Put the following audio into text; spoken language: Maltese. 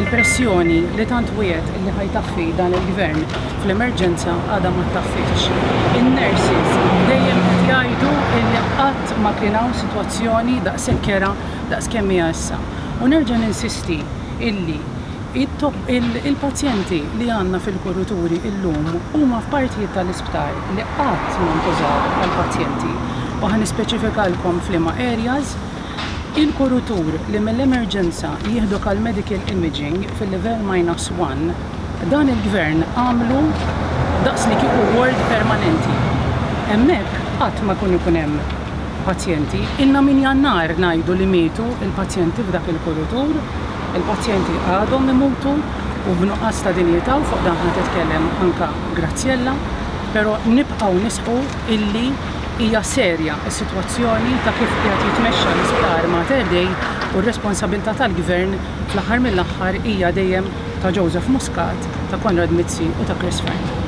Il-pressjoni li tant wiegħed illi ħa jtaffi dan il-Gvern fl-emerġenza għadha ma ttaffietx. In-nurses dejjem qed jgħidu illi qatt ma kien hawn sitwazzjoni daqshekk kerha daqs kemm hija issa. U nerġa' ninsisti illi il-pazjenti li għandna fil-kuruturi illum huma f'partijiet tal-isptar li qatt ma ntużaw għall-pazjenti u ħa nispeċifikalkom f'liema areas. Il-kurutur li mill-emerġenza jieħduk għal medical imaging fil-level minus one, dan il-Gvern għamlu daqs li kieku ward permanenti. Hemmhekk qatt ma jkun ikun hemm pazjenti. Ilna minn Jannar ngħidu li mietu l-pazjenti f'dak il-kurutur. Il-pazjenti għadhom imutu u b'nuqqas ta' dinjità u fuq dan ħa titkellem anka Graziella, però nibqgħu nisħqu illi hija serja s-sitwazzjoni ta' kif qiegħed jitmexxa l-Isptar Mater Dei u r-responsabilità tal-Gvern fl-aħħar mill-aħħar hija dejjem ta' Joseph Muscat, ta' Konrad Mizzi u ta' Chris Fearne.